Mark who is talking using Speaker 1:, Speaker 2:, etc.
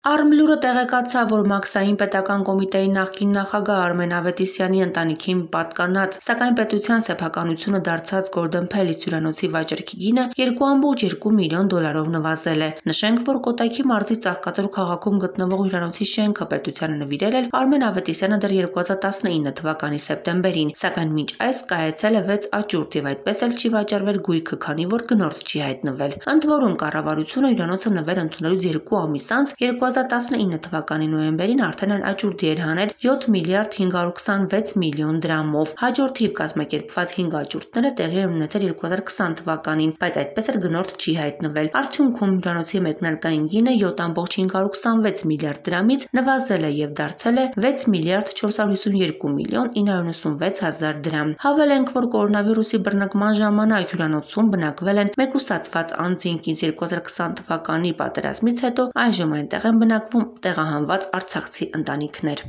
Speaker 1: Արմլուրը տեղեկացավ, որ Մաքսային պետական կոմիտեի նախկին նախագահ Արմեն Ավետիսյանի ընտանիքին պատկանած, սակայն պետության սեփականությունը դարձած Գորդոն Փելիս հյուրանոցի վաճառքի գինը $2.2 միլիոն նվազել է։ Նշենք, որ Կոտայքի մարզի Ծաղկաձոր քաղաքում գտնվող հյուրանոցի շենքը պետությանը նվիրել էր Արմեն Ավետիսյանը դեռ 2019 թվականի սեպտեմբերին, սակայն մինչ այս կայացել է 6 աճուրդ եւ այդպես էլ չի վաճառվել գույքը, քանի որ գնորդ չի հայտնվել։ Ընդ որում կառավարությունը հյուրանոցը նվեր ընդունելուց 2 ամիս անց 2019 թվականի նոյեմբերին արդեն այն աճուրդի էր հանել 7 միլիարդ 526 միլիոն դրամով։ Հաջորդ թիվ կազմակերպված 5 աճուրդները տեղի են ունեցել 2020 թվականին, բայց այդպես էլ գնորդ չի հայտնվել։ Արդյունքում հյուրանոցի մեկնարկային գինը 7.526 միլիարդ դրամից նվազել է եւ դարձել է 6 միլիարդ 452 միլիոն 996 հազար դրամ։ Հավելենք, որ կորոնավիրուսի բռնկման ժամանակ հյուրանոցում բնակվել են մեկուսացված անձինք, իսկ 2020 թվականի պատերազմից հետո այժմ այնտեղ են բնակվում տեղահանված արցախցի ընտանիքներ։